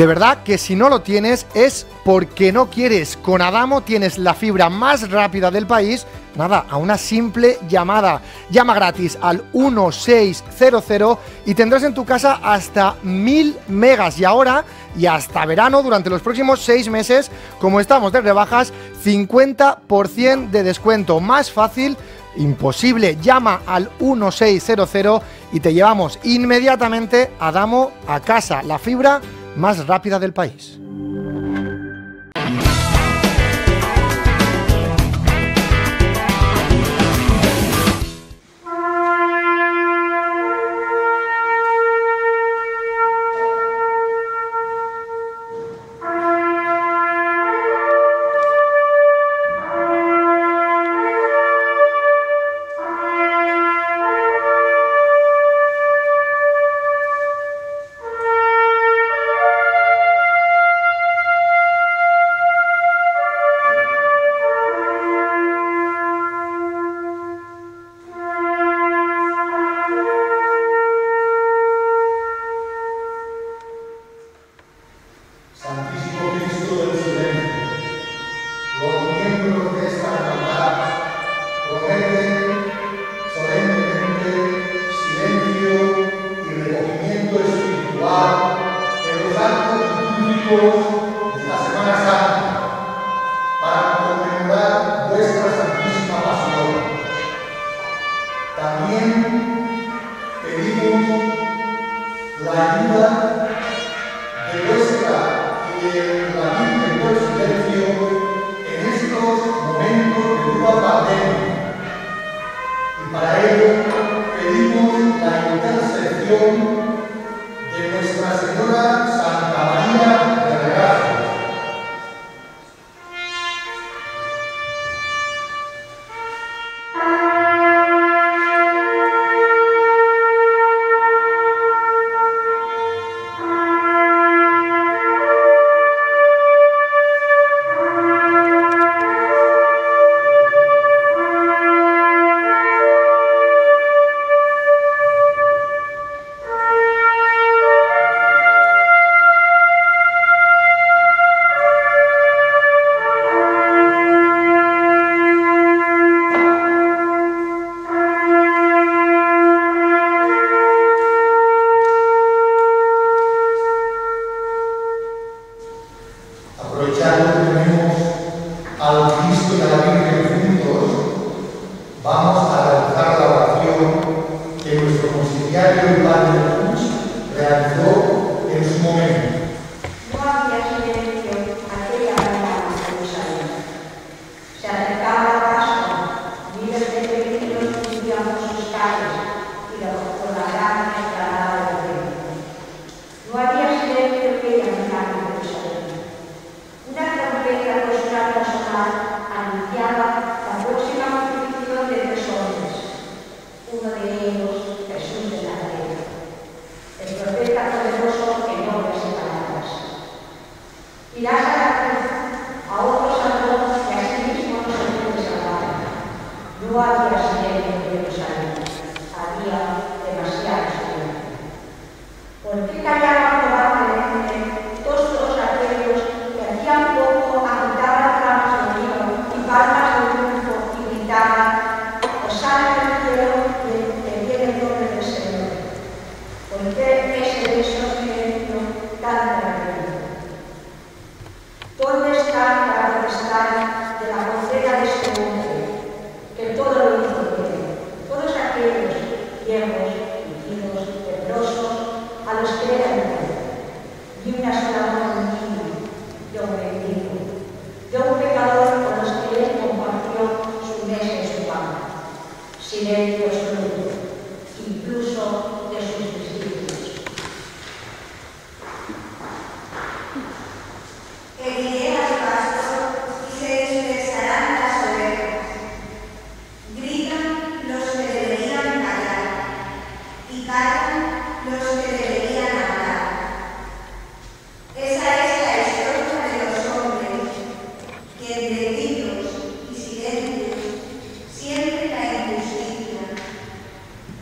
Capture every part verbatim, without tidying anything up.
De verdad que si no lo tienes es porque no quieres. Con Adamo tienes la fibra más rápida del país, nada, a una simple llamada. Llama gratis al uno seis cero cero y tendrás en tu casa hasta mil megas. Y ahora, y hasta verano, durante los próximos seis meses, como estamos de rebajas, cincuenta por ciento de descuento. Más fácil imposible. Llama al uno seis cero cero y te llevamos inmediatamente a Adamo a casa. La fibra más rápida del país.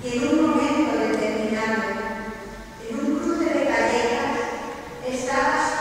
En un momento determinado, en un cruce de callejas, estabas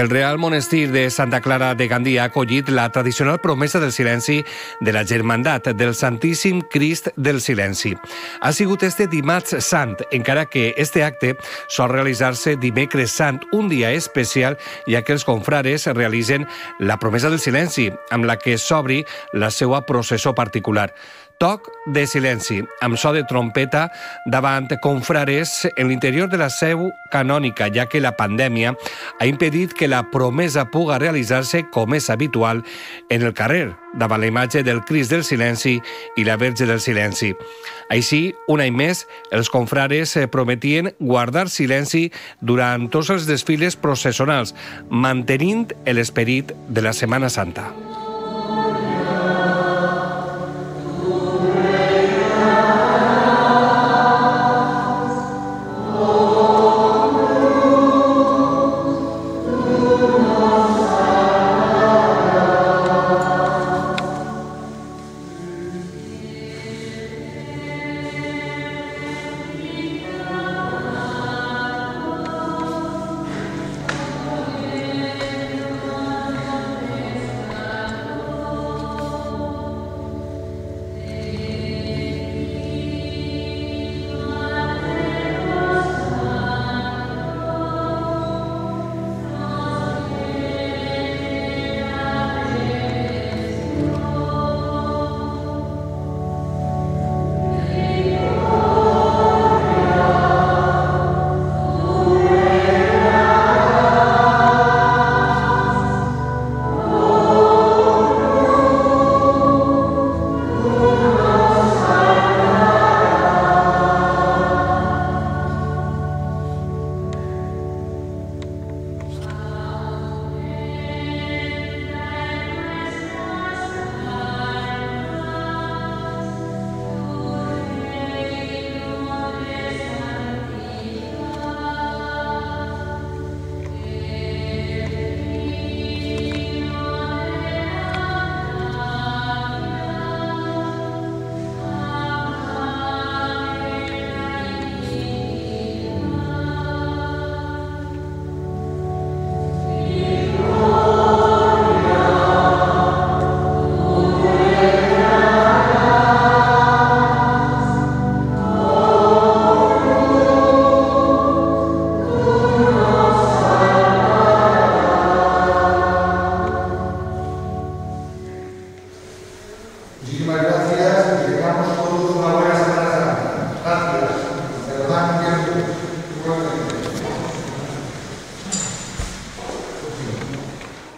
El Real Monestir de Santa Clara de Gandia ha acollit la tradicional promesa del silenci de la Germandat del Santíssim Crist del Silenci. Ha sigut este dimarts sant, encara que este acte sol realitzar-se dimecres sant, un dia especial, ja que els confrares realitzen la promesa del silenci, amb la que s'obri la seva processó particular. Toc de silenci, amb so de trompeta davant confrares en l'interior de la seu canònica, ja que la pandèmia ha impedit que la promesa puga realitzar-se com és habitual en el carrer, davant la imatge del Crist del Silenci i la Verge del Silenci. Així, un any més, els confrares prometien guardar silenci durant tots els desfiles processionals, mantenint l'esperit de la Setmana Santa.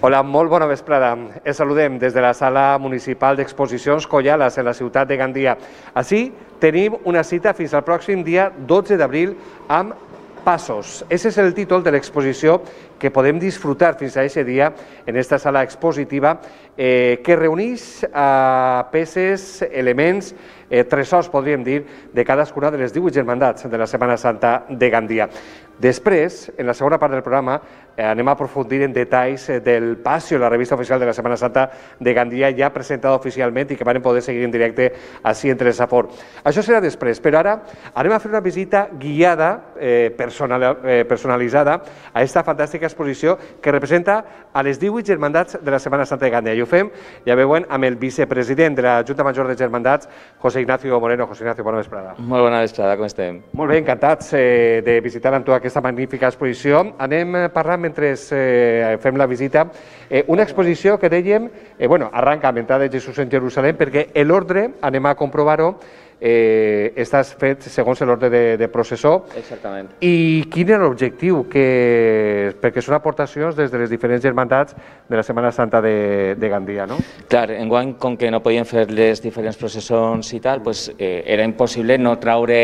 Hola, molt bona vesprada. Els saludem des de la Sala Municipal d'Exposicions Collales en la ciutat de Gandia. Així tenim una cita fins al pròxim dia dotze d'abril amb Passos. Ese és el títol de l'exposició que podem disfrutar fins a aquest dia en aquesta sala expositiva eh, que reuneix eh, peces, elements, eh, tresors, podríem dir, de cadascuna de les divuit germandats de la Setmana Santa de Gandia. Després, en la segona part del programa, eh, anem a aprofundir en detalls eh, del Passió, la revista oficial de la Setmana Santa de Gandia, ja presentada oficialment i que van poder seguir en directe així entre el Safor. Això serà després, però ara anem a fer una visita guiada, eh, personal, eh, personalitzada, a aquesta fantàstica exposició que representa a les divuit germandats de la Setmana Santa de Gandia. I ho fem, ja veuen, amb el vicepresident de la Junta Major de Germandats, José Ignacio Moreno. José Ignacio, bona vesprada. Molt bona vesprada, com estem? Molt bé, encantats eh, de visitar amb tu aquesta magnífica exposició. Anem parlant mentre eh, fem la visita. Eh, una exposició que dèiem, eh, bueno, arranca amb entrada de Jesús en Jerusalem, perquè l'ordre, anem a comprovar-ho, eh, estàs fet segons l'ordre de, de processó. Exactament. I quin era l'objectiu? Que, perquè són aportacions des de les diferents germandats de la Setmana Santa de, de Gandia, no? Clar, enguany, com que no podien fer les diferents processons i tal, pues, eh, era impossible no traure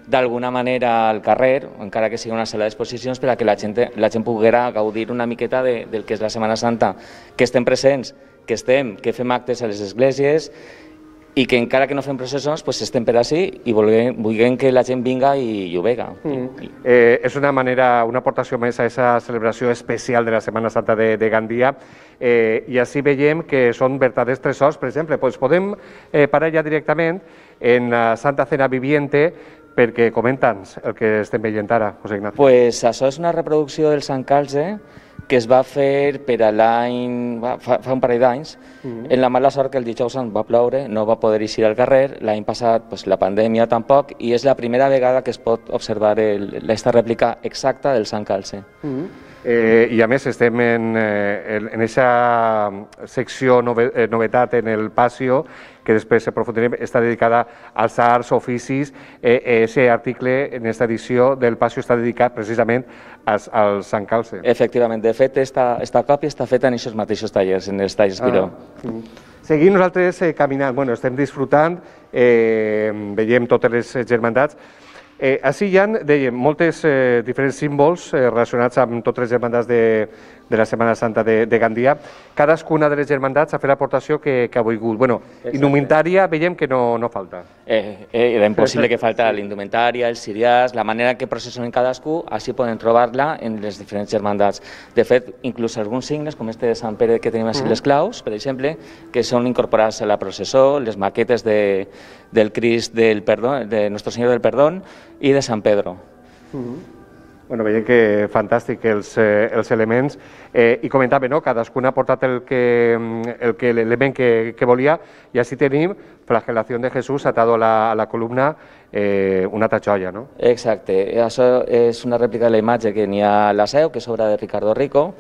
d'alguna manera al carrer, encara que sigui una sala d'exposicions, per a que la gent, la gent poguera gaudir una miqueta de, del que és la Setmana Santa, que estem presents, que estem, que fem actes a les esglésies i que encara que no fem processons, pues estem per ací i vulguem, vulguem que la gent vinga i, i ho vega. Mm. Eh, és una manera, una aportació més a aquesta celebració especial de la Setmana Santa de, de Gandia, eh, i així veiem que són verdaders tresors. Per exemple, pues podem eh, parar ja directament en la Santa Cena Viviente, perquè comenta'ns el que estem veient ara, José Ignacio. Pues això és una reproducció del Sant Calze, que es va fer per a l'any, fa, fa un parell d'anys, mm-hmm. en la mala sort que el dijous sant va ploure, no va poder eixir al carrer, l'any passat pues, la pandèmia tampoc, i és la primera vegada que es pot observar aquesta rèplica exacta del Sant Calce. Mm-hmm. Eh, I a més estem en aquesta secció nove, eh, novetat en el Pasio, que després aprofundirem, està dedicada als arts, oficis. Aquest eh, article en aquesta edició del Pasio està dedicat precisament als, al Sant Calce. Efectivament, de fet, esta, esta còpia està feta en aquests mateixos tallers, en els tallers Piró. Ah. Seguim nosaltres eh, caminant, bueno, estem disfrutant, eh, veiem totes les germandats. Eh, així hi ha, dèiem, moltes eh, diferents símbols eh, relacionats amb totes les germandats de, de la Setmana Santa de, de Gandia. Cadascuna de les germandats ha fet l'aportació que, que ha volgut. Bueno, indumentària veiem que no, no falta. Eh, eh, era impossible que falta l'indumentària, els ciriars, la manera que processionen cadascú, així poden trobar-la en les diferents germandats. De fet, inclús alguns signes, com este de Sant Pere que tenim així les claus, per exemple, que són incorporats a la processó, les maquetes de, del Crist del Perdó, de Nuestro Señor del Perdón, i de Sant Pedro. Mm-hmm. Bueno, veiem que fantàstic els, eh, els elements. Eh, I comentava, no? Cadascun ha portat el que, el que, l'element que, que volia, i així tenim flagelació de Jesús atado a la, a la columna, eh, una altra joia, no? Exacte. Això és una rèplica de la imatge que n'hi ha a la Seu, que és obra de Ricardo Rico,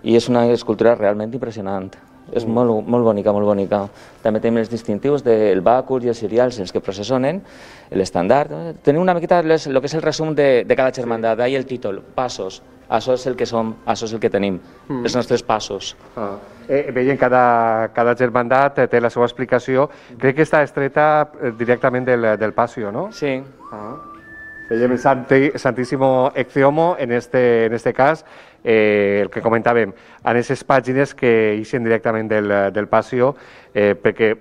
i és una escultura realment impressionant. És molt, molt bonica, molt bonica. També tenim els distintius del bàcul i els cirials, els que processionen, l'estandard. Tenim una miqueta el que és el resum de, de cada germandat, d'ahir el títol, passos. Això és el que som, això és el que tenim, mm. els nostres passos. Ah. Eh, veiem cada, cada germandat té la seva explicació. Crec que està estreta directament del, del Pasio, no? Sí. Ah. Veiem el Santi, Santísimo Ecceomo, en este, en este cas, eh, el que comentàvem, en aquestes pàgines que ixen directament del, del Pasio, eh, perquè,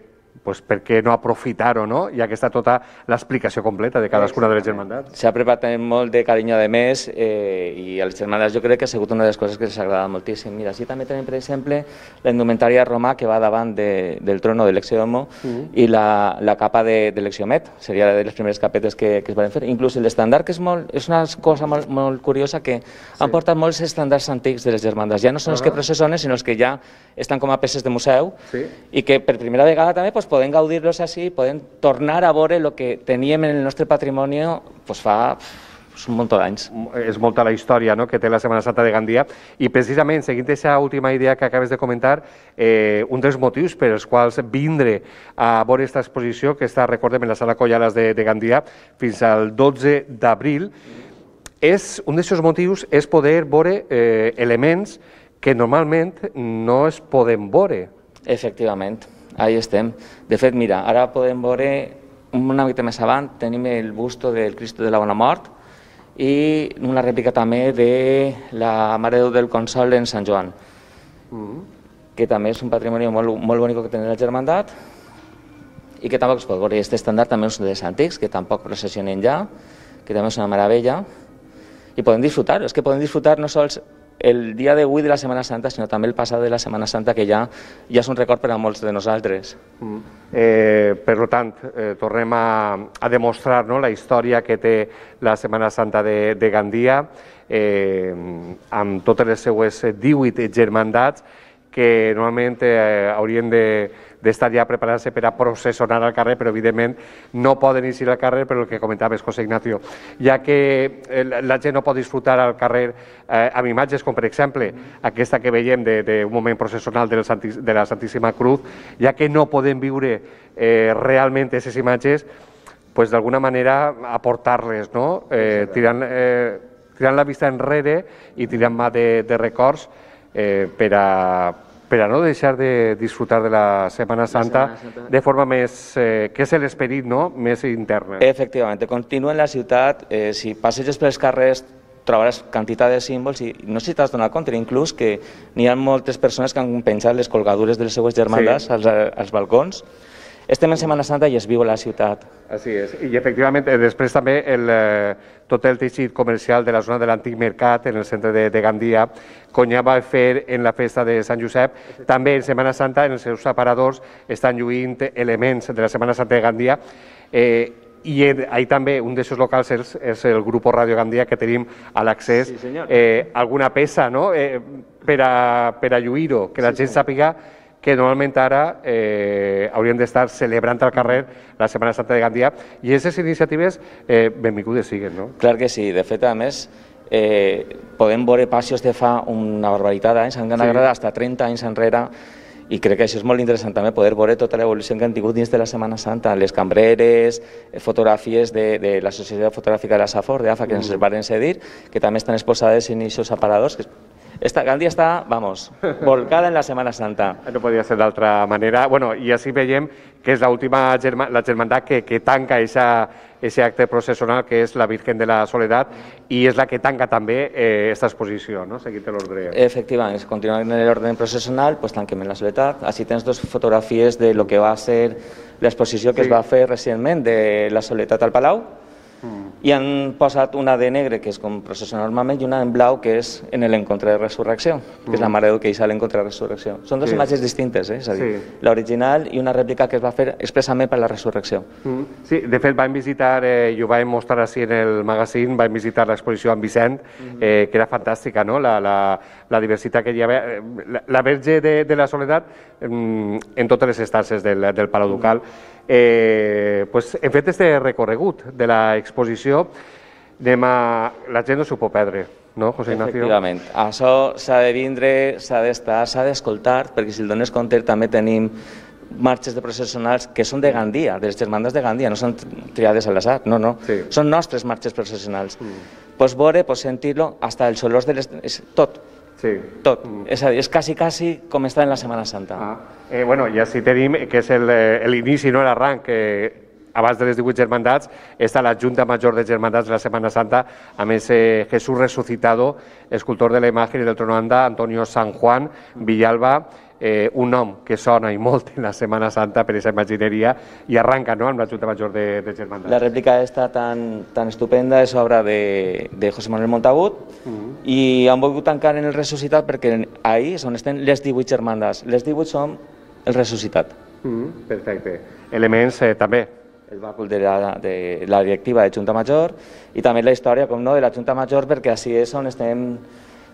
pues, perquè no aprofitar-ho, no? Ja que està tota l'explicació completa de cadascuna de les germandats. S'ha preparat molt de carinyo de més eh, i a les germandats jo crec que ha sigut una de les coses que els agrada moltíssim. Mira, així també tenim, per exemple, la indumentària romà que va davant de, del trono de l'Ecceomo mm-hmm. i la, la capa de, de l'Exiomet, seria de les primeres capetes que, que es van fer. Inclús l'estandard, que és, molt, és una cosa molt, molt curiosa, que sí. han portat molts estàndards antics de les germandats. Ja no són els que processionen, sinó els que ja estan com a peces de museu sí. i que per primera vegada també pues, poden gaudir-los així, poden tornar a veure el que teníem en el nostre patrimoni pues, fa pues, un munt d'anys. És molta la història, no?, que té la Setmana Santa de Gandia, i precisament, seguint aquesta última idea que acabes de comentar, eh, un dels motius per als quals vindre a veure aquesta exposició, que està, recordem, en la Sala Collalas de, de Gandia, fins al dotze d'abril, és, un d'aquests motius és poder veure eh, elements que normalment no es poden veure. Efectivament. Ahí estem. De fet, mira, ara podem veure una mica més avant, tenim el busto del Cristo de la Bona Mort i una rèplica també de la Mare de Déu del Consol en Sant Joan, mm. que també és un patrimoni molt, molt bonic que té la germandat i que tampoc es pot veure. Aquest estàndard també és dels antics, que tampoc processionen ja, que també és una meravella, i podem disfrutar. És que podem disfrutar no sols el dia d'avui de la Setmana Santa, sinó també el passat de la Setmana Santa, que ja, ja és un record per a molts de nosaltres. Mm. Eh, per tant, eh, tornem a, a demostrar, no?, la història que té la Setmana Santa de, de Gandia, eh, amb totes les seues divuit germandats, que normalment eh, haurien de d'estar ja preparant-se per a processionar al carrer, però evidentment no poden eixir al carrer per el que comentaves, José Ignacio, ja que la gent no pot disfrutar al carrer eh, amb imatges com, per exemple, aquesta que veiem d'un moment processional de la Santíssima Cruz, ja que no podem viure eh, realment aquestes imatges, pues, d'alguna manera aportar-les, no? eh, tirant, eh, tirant la vista enrere i tirant mà de, de records eh, per a per a no deixar de disfrutar de la Setmana Santa de forma més, eh, que és l'esperit, no?, més interna. Efectivament, continua en la ciutat, eh, si passeges pels carrers trobaràs quantitat de símbols i no sé si t'has donat compte, inclús que n'hi ha moltes persones que han penjat les colgadures de les seues germandats sí. als, als balcons. Estem en Setmana Santa i es viu a la ciutat. Així és. I efectivament, després també el, tot el teixit comercial de la zona de l'antic mercat, en el centre de, de Gandia, com ja va fer en la festa de Sant Josep, també en Setmana Santa, en els seus aparadors, estan lluint elements de la Setmana Santa de Gandia. Eh, i ahí també un d'aquests locals és, és el grup Radio Gandia, que tenim a l'accés sí, eh, alguna peça, no? eh, per a, per a lluir-ho, que la sí, gent sí. sàpiga que normalment ara eh, hauríem d'estar celebrant al carrer la Setmana Santa de Gandia, i aquestes iniciatives eh, benvingudes siguen, no? Clar que sí, de fet, a més, eh, podem veure passos de fa una barbaritat d'anys, han anat sí. Fins a trenta anys enrere, i crec que això és molt interessant també, poder veure tota l'evolució que han tingut dins de la Setmana Santa, les cambreres, fotografies de, de la Societat Fotogràfica de la Safor, d'A F A, que ens van cedir, que també estan exposades en aquests aparadors. Esta Gandia està, vamos, volcada en la Setmana Santa. No podia ser d'altra manera. Bueno, i així veiem que és l'última germa, la germandat que, que tanca aquest acte processional, que és la Virgen de la Soledat, i és la que tanca també aquesta eh, exposició, no? Seguint l'ordre. Efectivament, continuant en l'ordre processional, pues, tanquem la Soledat. Així tens dues fotografies de lo que va ser l'exposició que sí. Es va fer recentment de la Soledat al Palau, mm. i han posat una de negre, que és com processional normalment, i una en blau, que és en l'encontre de resurrecció, que mm. és la Mare de Déu que hi ha l'encontre de resurrecció. Són dues sí. Imatges distintes, eh? És a dir, sí. L'original i una rèplica que es va fer expressament per la resurrecció. Mm. Sí, de fet vam visitar, eh, i ho vam mostrar així en el magazine, vam visitar l'exposició amb Vicent, mm. eh, que era fantàstica, no? La, la, la diversitat que hi havia, la, la Verge de, de la Soledat mm, en totes les estances del, del Palau Ducal. Mm. Eh, pues, hem fet este recorregut de l'exposició, anem a... la gent no s'ho pot perdre, no, José Ignacio? Efectivament, això s'ha de vindre, s'ha d'estar, s'ha d'escoltar, perquè si el dones compte també tenim marxes de processionals que són de Gandia, de les germandes de Gandia, no són triades a l'azar, no, no, sí. Són nostres marxes processionals. Mm. Pues veure, pues sentir-lo, hasta els olors de les... És tot. Sí. Tot. Mm. És a dir, és quasi, quasi com està en la Setmana Santa. Ah. Eh, bueno, i així tenim, que és l'inici, no l'arranc, que abans de les divuit germandats està la Junta Major de Germandats de la Setmana Santa, amb ese Jesús resucitado, escultor de la imagen i del tronanda, Antonio San Juan Villalba, eh, un nom que sona i molt en la Setmana Santa per aquesta imagineria, i arranca, no?, amb la Junta Major de, de Germandats. La rèplica està tan, tan estupenda, és obra de, de José Manuel Montagut, uh -huh. i han volgut tancar en el Ressuscitat perquè ahí és on estan les divuit germandats. Les divuit són el Ressuscitat. Uh -huh. Perfecte. Elements eh, també. El bàcul de la, de la directiva de Junta Major, i també la història, com no, de la Junta Major, perquè així és on estem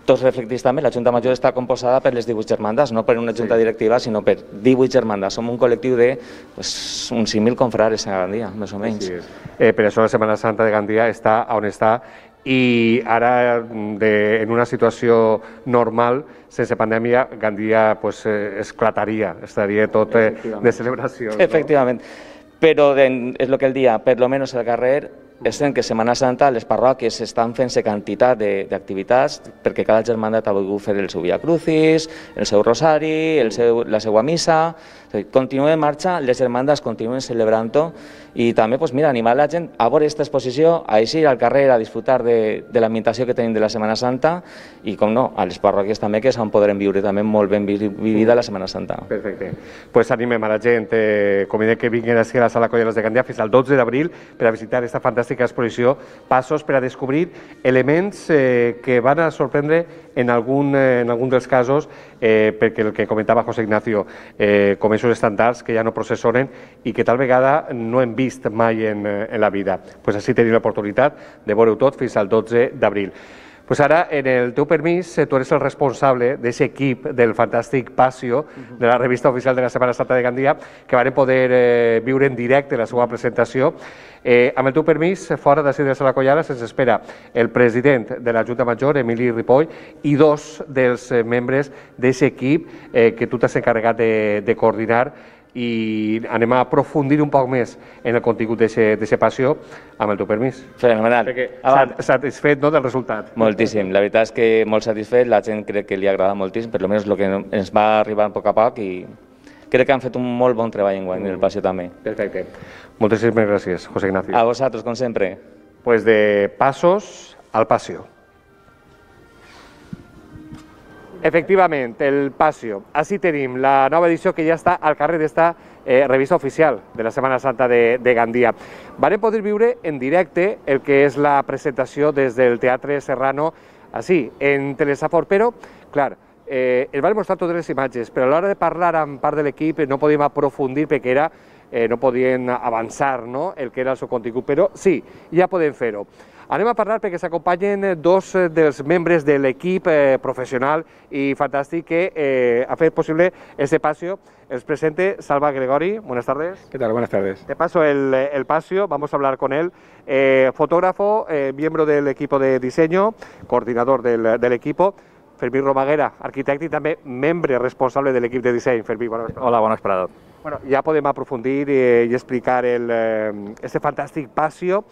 tots reflectits també. La Junta Major està composada per les divuit germandas, no per una junta sí. directiva, sinó per divuit germandas. Som un col·lectiu de pues, uns cinc mil confrares a Gandia, més o menys. Sí, eh, per això la Setmana Santa de Gandia està on està, i ara, de, en una situació normal, sense pandèmia, Gandia pues, eh, esclataria, estaria tot eh, de celebració. Efectivament. No? Però de, és el que el dia, per lo menos al carrer, és que Setmana Santa les parròquies estan fent-se quantitat d'activitats perquè cada germandat ha volgut fer el seu Via Crucis, el seu rosari, el seu, la seva missa. Continua en marxa, les germandas continuen celebrant-ho, i també pues, mira, animar la gent a veure aquesta exposició, a eixir al carrer a disfrutar de, de l'ambientació que tenim de la Setmana Santa, i com no, a les parròquies també, que s'han podrem viure també molt ben vivida la Setmana Santa. Perfecte. Pues animem a la gent, eh, com que vinguin a la Sala Colleres de Gandia fins al dotze d'abril per a visitar aquesta fantàstica exposició, passos per a descobrir elements eh, que van a sorprendre en algun, eh, en algun dels casos, eh, perquè el que comentava José Ignacio, eh, com aquests estàndards que ja no processonen i que tal vegada no hem vist mai en, en la vida. Pues així tenim l'oportunitat de veure-ho tot fins al dotze d'abril. Pues ara, en el teu permís, tu eres el responsable d'aquest equip del fantàstic Pasio, de la revista oficial de la Setmana Santa de Gandia, que van poder eh, viure en directe la seva presentació. Eh, amb el teu permís, fora d'ací de la Sala Collada, se'ns espera el president de la Junta Major, Emili Ripoll, i dos dels eh, membres d'aquest equip eh, que tu t'has encarregat de, de coordinar, i anem a aprofundir un poc més en el contingut d'aquesta passió, amb el teu permís. Fenomenal. Satisfet, no, del resultat? Moltíssim. La veritat és que molt satisfet, la gent crec que li agrada moltíssim, per almenys el que ens va arribar a poc a poc, i crec que han fet un molt bon treball en guany, en el passió també. Perfecte. Moltíssimes gràcies, José Ignacio. A vosaltres, com sempre. Pues de passos al passió. Efectivament, el Pasio. Així tenim la nova edició que ja està al carrer d'esta eh, revista oficial de la Setmana Santa de, de Gandia. Vam poder viure en directe el que és la presentació des del Teatre Serrano, així, en Telesafor, però, clar, eh, ens van mostrar totes les imatges, però a l'hora de parlar amb part de l'equip no podíem aprofundir perquè era eh, no podien avançar, no?, el que era el seu contingut, però sí, ja podem fer-ho. Anem a parlar perquè s'acompanyen dos dels membres de l'equip eh, professional i fantàstic que eh, ha fet possible este paseo. Els presente Salva Gregori. Buenas tardes. ¿Qué tal? Buenas tardes. Te paso el, el paseo, vamos a hablar con él. Eh, fotógrafo, eh, miembro del equipo de diseño, coordinador del, del equipo. Fermín Romaguera, arquitecte i també membre responsable de l'equip de disseny. Fermín, bona vesprada. Hola, bona vesprada. Bueno, ja podem aprofundir eh, y explicar el, eh, este fantástico paseo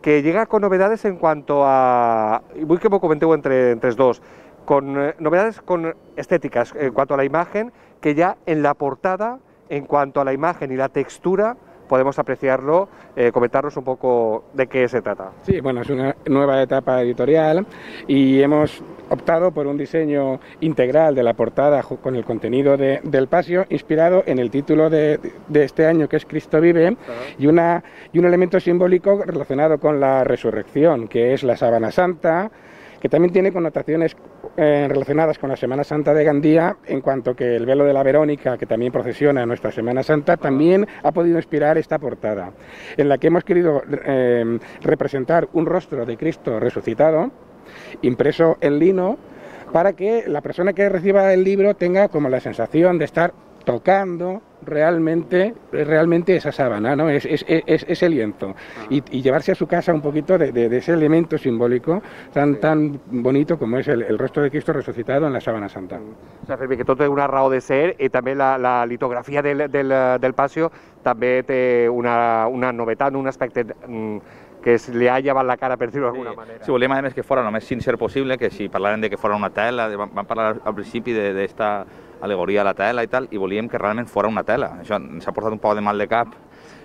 que llega con novedades en cuanto a, y voy que me comenteu entre, entre los dos, con eh, novedades con estéticas en cuanto a la imagen, que ya en la portada, en cuanto a la imagen y la textura, podemos apreciarlo, eh, comentarnos un poco de qué se trata. Sí, bueno, es una nueva etapa editorial y hemos optado por un diseño integral de la portada con el contenido de, del paseo, inspirado en el título de, de este año, que es Cristo vive, uh-huh. y, una, y un elemento simbólico relacionado con la resurrección, que es la sábana santa, que también tiene connotaciones eh, relacionadas con la Semana Santa de Gandía, en cuanto que el velo de la Verónica, que también procesiona en nuestra Semana Santa, también ha podido inspirar esta portada, en la que hemos querido eh, representar un rostro de Cristo resucitado, impreso en lino, para que la persona que reciba el libro tenga como la sensación de estar tocando realmente, realmente esa sábana, ¿no? es, es, es, ese lienzo, y, y llevarse a su casa un poquito de, de, de ese elemento simbólico tan, sí. tan bonito como es el, el rostro de Cristo resucitado en la sábana santa. O sea, Fermí, que tot té una raó de ser, i també la, la litografia del, del, del paseo també té una, una novetat, un aspecte que li ha llevat la cara, per dir-ho d'alguna sí. manera. Sí, volíem a més que fora el més sincer possible, que si parlàvem de que fora una tela, vam, vam parlar al principi d'esta alegoria a la tela i tal, i volíem que realment fora una tela. Això ens ha portat un poc de mal de cap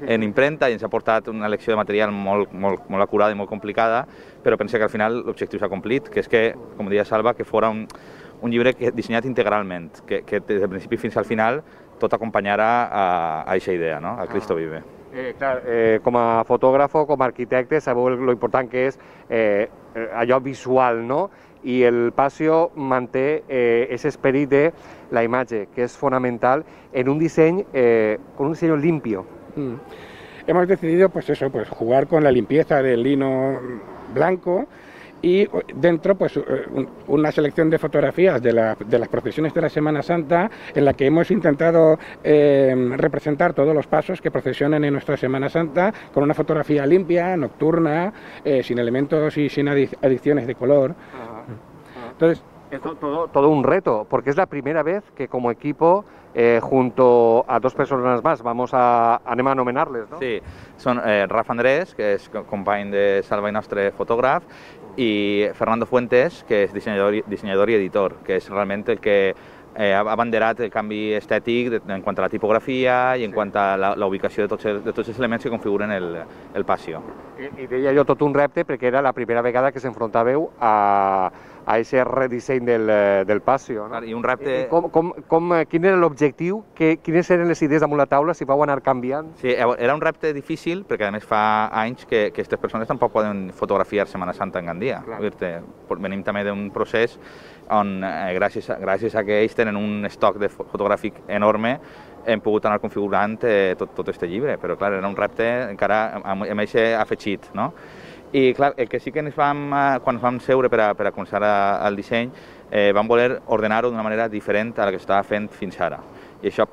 en impremta i ens ha portat una elecció de material molt, molt, molt acurada i molt complicada, però pense que al final l'objectiu s'ha complit, que és que, com deia Salva, que fora un, un llibre que, dissenyat integralment, que, que des del principi fins al final tot acompanyarà a aquesta idea, no? A Cristo vive. Eh, clar, eh, com a fotògrafo, com a arquitecte, sabeu lo important que és eh, allò visual, no? I el paseo manté eh, ese esperit de la imatge, que és fonamental en un disseny, eh, con un diseño limpio. Mm. Hemos decidido, pues eso, pues jugar con la limpieza del lino blanco y dentro, pues una selección de fotografías de, la, de las procesiones de la Semana Santa, en la que hemos intentado eh, representar todos los pasos que procesionan en nuestra Semana Santa con una fotografía limpia, nocturna, eh, sin elementos y sin adiciones de color. Ajá. Ajá. Entonces, es todo, todo un reto, porque es la primera vez que como equipo, eh, junto a dos personas más, vamos a, anem a anomenarles, ¿no? Sí, són eh, Rafa Andrés, que és company de Salva i nostre fotògraf, i Fernando Fuentes, que és dissenyador, dissenyador i editor, que és realment el que eh, ha abanderat el canvi estètic de, en quant a la tipografia i en sí. quant a la, la ubicació de tots, els, de tots els elements que configuren el, el paseo. I, I deia jo tot un repte perquè era la primera vegada que s'enfrontàveu a a aquest redisseny del, del paseo. No? I un repte... I com, com, com, quin era l'objectiu? Quines eren les idees damunt la taula? Si vau anar canviant? Sí, era un repte difícil, perquè a més fa anys que aquestes persones tampoc poden fotografiar Setmana Santa en Gandia. Venim també d'un procés on, eh, gràcies, a, gràcies a que ells tenen un estoc de fotogràfic enorme, hem pogut anar configurant eh, tot, tot este llibre, però clar, era un repte encara amb, amb aquest afegit, no? I clar, el que sí que ens vam, quan ens vam seure per a, per a començar a, el disseny, eh, vam voler ordenar-ho d'una manera diferent a la que s'estava fent fins ara. I això,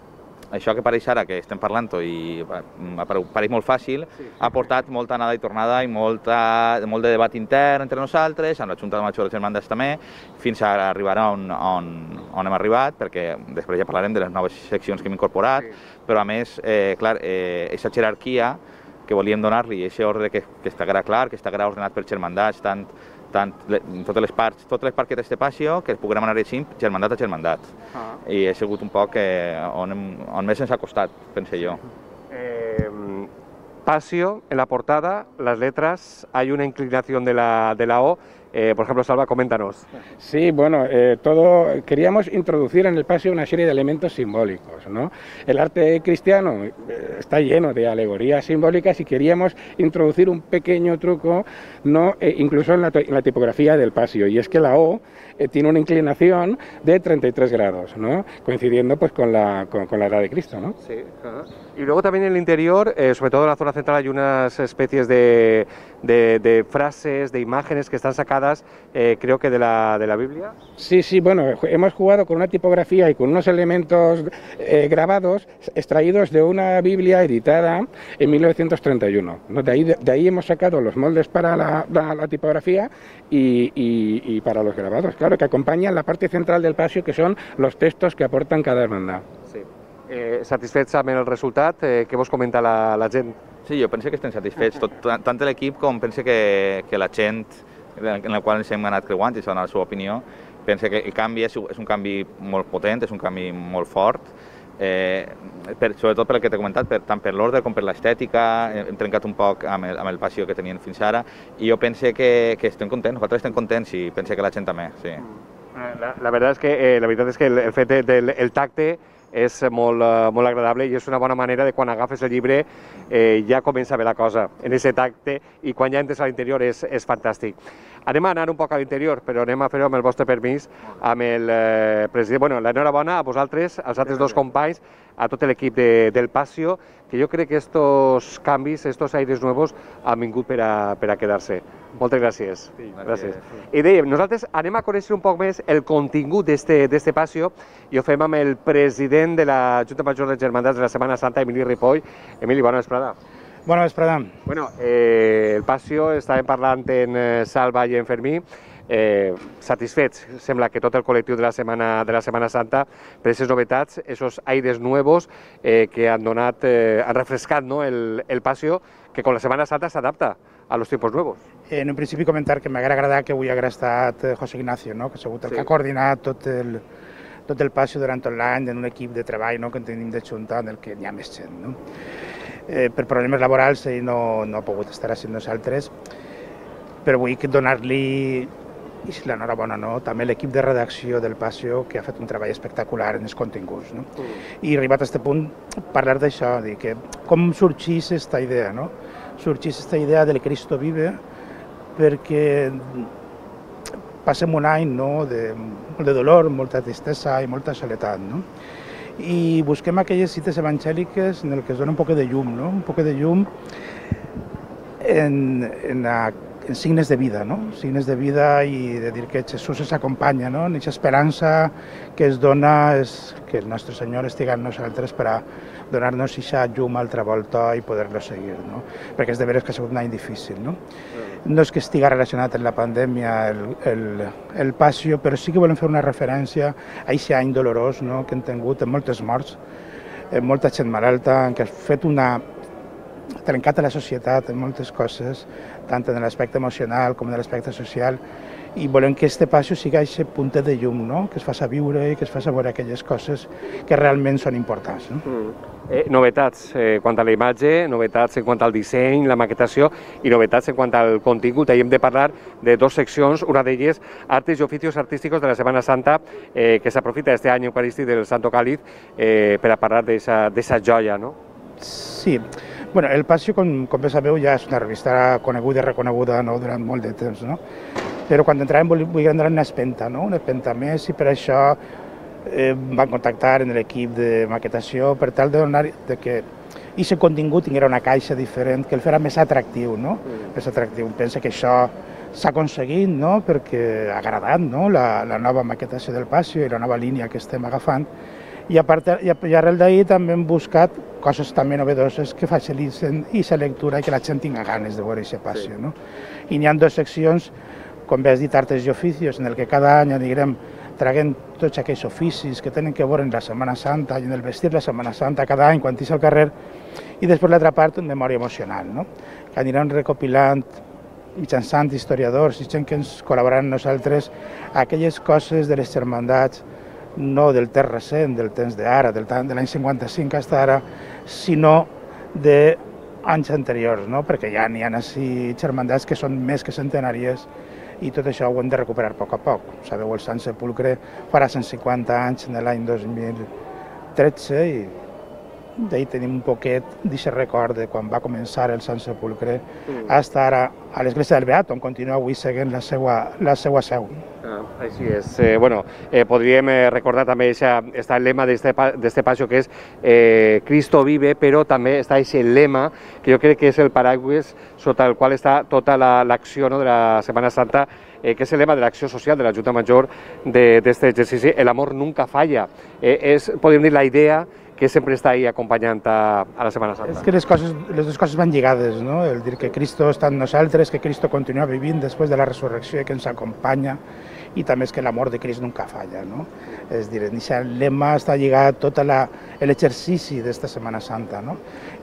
això que pareix ara, que estem parlant i pareix molt fàcil, sí, sí, ha portat molta anada i tornada i molta, molt de debat intern entre nosaltres, amb la Junta de Major de Germandat també, fins a arribar on, on, on hem arribat, perquè després ja parlarem de les noves seccions que hem incorporat, sí. Però a més, eh, clar, eh, aquesta jerarquia que volíem donar-li, aquest ordre que, que estarà clar, que estarà ordenat per germandats, tant, tant totes les parts, totes les parts que té este paseo, que puguem anar així, germandat a germandat. Ah. I ha sigut un poc eh, on, hem, on més ens ha costat, pense jo. Eh, paseo, en la portada, las letras, hay una inclinación de la, de la O Eh, por ejemplo, Salva, coméntanos. Sí, bueno, eh, todo queríamos introducir en el paseo una serie de elementos simbólicos, ¿no? El arte cristiano eh, está lleno de alegorías simbólicas y queríamos introducir un pequeño truco, ¿no? Eh, incluso en la, en la tipografía del paseo, y es que la O eh, tiene una inclinación de treinta y tres grados, ¿no? Coincidiendo pues con la, con, con la edad de Cristo, ¿no? Sí. Uh-huh. Y luego también en el interior, eh, sobre todo en la zona central, hay unas especies de, de, de frases, de imágenes que están sacadas, eh, creo que de la, de la Biblia. Sí, sí, bueno, hemos jugado con una tipografía y con unos elementos eh, grabados extraídos de una Biblia editada en mil novecientos treinta y uno, ¿no? De ahí, de, de ahí hemos sacado los moldes para la, la, la tipografía y, y, y para los grabados, claro, que acompañan la parte central del paseo, que son los textos que aportan cada hermandad. Sí. Eh, satisfets amb el resultat? Eh, què vos comenta la, la gent? Sí, jo penso que estem satisfets, tot, tant l'equip com penso que, que la gent en la qual ens hem anat creuant i dona la seva opinió, pensa que el canvi és, és un canvi molt potent, és un canvi molt fort, eh, per, sobretot per el que t'he comentat, per, tant per l'ordre com per l'estètica, hem trencat un poc amb el, amb el passió que tenien fins ara, i jo penso que, que estem contents, nosaltres estem contents i penso que la gent també, sí. La, la veritat és que, eh, la veritat és que el, el fet del el tacte és molt, uh, molt agradable i és una bona manera de quan agafes el llibre eh, ja comença a ver la cosa en aquest tacte i quan ja entres a l'interior és, és fantàstic. Anem a anar un poc a l'interior, però anem a fer-ho amb el vostre permís, amb el eh, president. Bueno, l'enhorabona a vosaltres, als altres dos companys, a tot l'equip de, del Pasio, que jo crec que estos canvis, estos aires nuevos han vingut per a, per a quedar-se. Moltes gràcies. Sí, gràcies. I dèiem, nosaltres anem a conèixer un poc més el contingut d'este Pasio i ho fem amb el president de la Junta Major de Germandats de la Setmana Santa, Emili Ripoll. Emili, bona vesprada. Bona vesprada. Bueno, eh, el Pasio, estàvem parlant en eh, Salva i en Fermí, eh, satisfets, sembla que tot el col·lectiu de la Setmana, de la Setmana Santa, per aquestes novetats, esos aires nuevos eh, que han donat, eh, han refrescat, ¿no?, el, el Pasio, que con la Setmana Santa s'adapta a los tiempos nuevos. En un principi comentar que m'haguera agradat que avui hagués estat José Ignacio, no?, que ha sigut el sí. que ha coordinat tot el, tot el Pasio durant tot l'any en un equip de treball, no?, que en tenim de Junta en el que hi ha més gent, no? Eh, per problemes laborals ell no, no ha pogut estar amb nosaltres, però vull donar-li, i si l'enhorabona, no?, també l'equip de redacció del Pasio, que ha fet un treball espectacular en els continguts, no? Mm. I arribat a aquest punt, parlar d'això, dir que com sorgís aquesta idea, no? Sorgís aquesta idea del Cristo Vive, perquè passem un any, no?, de, de dolor, molta tristesa i molta soledat, no? I busquem aquelles cites evangèliques en el que es dona un poc de llum, no? Un poc de llum en, en, la, en signes de vida, no? Signes de vida i de dir que Jesús ens acompanya, no? En aquesta esperança que es dona és que el nostre Senyor estigui amb nosaltres per a donar-nos aquesta llum altra volta i poder-lo seguir, no? Perquè és de veres que ha sigut un any difícil, no? No és que estigui relacionat amb la pandèmia el, el, el Pasio, però sí que volem fer una referència a aquest any dolorós, no?, que hem tingut amb moltes morts, amb molta gent malalta, en què ha fet una trencat a la societat en moltes coses, tant en l'aspecte emocional com en l'aspecte social, i volem que este Pasio sigui aquest puntet de llum, no?, que es faci viure i que es faci veure aquelles coses que realment són importants, no? Mm. Eh, novetats eh, quant a la imatge, novetats en quant al disseny, la maquetació i novetats en quant al contingut. Ahir hem de parlar de dues seccions, una d'elles artes i oficios artísticos de la Setmana Santa, eh, que s'aprofita este any eucarístic del Santo Cáliz eh, per a parlar d'esa joia, no? Sí. Bueno, el Pasio, com, com bé sabeu, ja és una revista coneguda i reconeguda, no?, durant molt de temps, no? Però quan entràvem volíem donar una espenta, no?, una espenta més, i per això eh, van contactar en l'equip de maquetació per tal de donar de que aquest contingut tingués una caixa diferent, que el farà més atractiu, no? Mm. Més atractiu. Pensa que això s'ha aconseguit, no?, perquè ha agradat, no?, la, la nova maquetació del Pasio i la nova línia que estem agafant. I, a part, i, i arrel d'ahir també hem buscat coses també novedoses que facilitin aquesta lectura i que la gent tinga ganes de veure aquest Pasio, sí. No? I n'hi ha dues seccions, com bé has dit, artes i oficios, en el que cada any anirem traguent tots aquells oficis que tenen que veure en la Setmana Santa i en el vestir la Setmana Santa cada any quan t'hi al carrer, i després l'altra part, en memòria emocional, no?, que anirem recopilant mitjançant historiadors i gent que ens col·laboraran amb nosaltres aquelles coses de les germandats, no del temps recent, del temps d'ara, de l'any cinquanta-cinc fins ara, sinó d'anys anteriors, no?, perquè ja n'hi ha així germandats que són més que centenàries i tot això ho hem de recuperar a poc a poc. Sabeu, el Sant Sepulcre farà cent cinquanta anys en l'any dos mil tretze i d'ahir tenim un poquet d'aquest record de quan va començar el Sant Sepulcre mm. fins ara a l'església del Beat, on continua avui seguint la seva, la seva seu. Ah, així és. Eh, bueno, eh, podríem eh, recordar també aquest lema d'este passió que és eh, Cristo vive, però també està aquest lema que jo crec que és el paraigües sota el qual està tota l'acció la, no, de la Setmana Santa, eh, que és el lema de l'acció social de la Junta Major d'aquest exercici, el amor nunca falla. Eh, és, podríem dir, la idea que sempre està ahí acompanyant a, a la Setmana Santa. És que les, coses, les dues coses van lligades, no? El dir que Cristo està en nosaltres, que Cristo continua vivint després de la resurrecció i que ens acompanya, i també és que l'amor de Crist nunca falla, no? És dir, aquest lema està lligat a tot l'exercici d'esta Setmana Santa, no?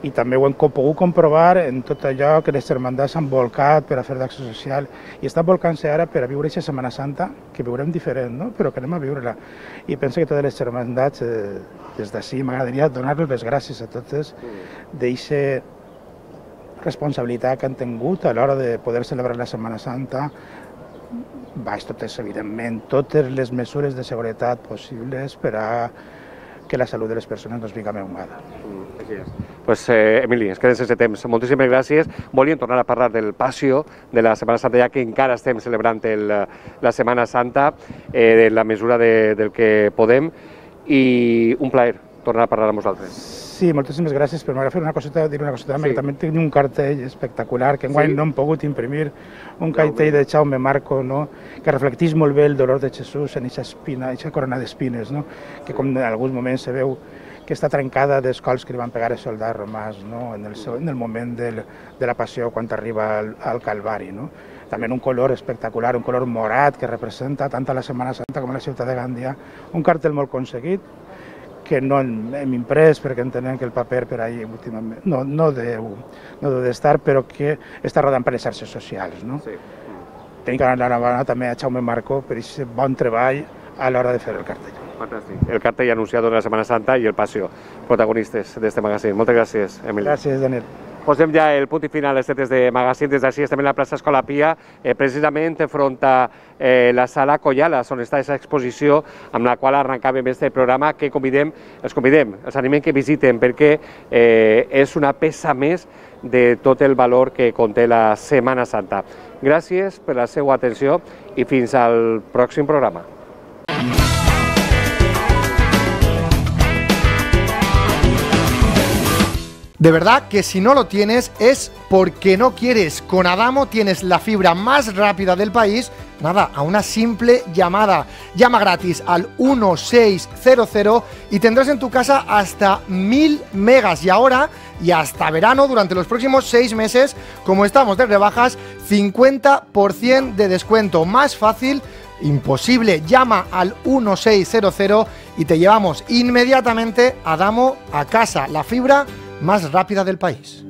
I també ho hem pogut comprovar en tot allò que les hermandats han volcat per a fer d'acció social i estan volcant-se ara per a viure aquesta Setmana Santa, que viurem diferent, no? Però que anem a viure-la. I penso que totes les hermandats, eh, des d'ací, m'agradaria donar-los les gràcies a totes d'eixa responsabilitat que han tingut a l'hora de poder celebrar la Setmana Santa, baix totes, evidentment, totes les mesures de seguretat possibles per a que la salut de les persones no es vinga menguada. Mm, així és. Pues, eh, Emili, ens quedem sense temps. Moltíssimes gràcies. Volíem tornar a parlar del passió de la Setmana Santa, ja que encara estem celebrant el, la Setmana Santa, eh, de la mesura de, del que podem, i un plaer tornar a parlar amb vosaltres. Sí, moltíssimes gràcies, però m'agrada fer una coseta, dir una coseta, sí. Que també tenim un cartell espectacular, que enguany sí. No hem pogut imprimir, un cartell de Jaume Marco, no? Que reflecteix molt bé el dolor de Jesús en aquesta espina, aquesta corona d'espines, no? Que com en alguns moments se veu que està trencada dels cols que li van pegar els soldats romans, no? En el, seu, en el moment del, de la passió quan arriba al, al Calvari, no? També un color espectacular, un color morat que representa tant a la Setmana Santa com a la ciutat de Gandia, un cartell molt aconseguit, que no hem imprès perquè entenem que el paper per ahí últimament no, no, deu, no deu d'estar, però que està rodant per les xarxes socials. No? Sí. Tenim que anar a també a Jaume Marco per aquest bon treball a l'hora de fer el cartell. Fantàstic. El cartell anunciat de la Setmana Santa i el passió, protagonistes d'aquest magazín. Moltes gràcies, Emili. Gràcies, Daniel. Posem ja el punt i final este test de magazín. Des d'ací estem en la plaça Escola Pia, eh, precisament enfront a eh, la sala Collalas, on està aquesta exposició amb la qual arrencàvem este programa, que convidem, els convidem, els animem que visiten, perquè eh, és una peça més de tot el valor que conté la Setmana Santa. Gràcies per la seva atenció i fins al pròxim programa. De verdad que si no lo tienes es porque no quieres. Con Adamo tienes la fibra más rápida del país, nada, a una simple llamada. Llama gratis al uno seis cero cero y tendrás en tu casa hasta mil megas. Y ahora, y hasta verano, durante los próximos seis meses, como estamos de rebajas, cincuenta por ciento de descuento. Más fácil, imposible. Llama al uno seis cero cero y te llevamos inmediatamente Adamo a casa. La fibra más rápida del país.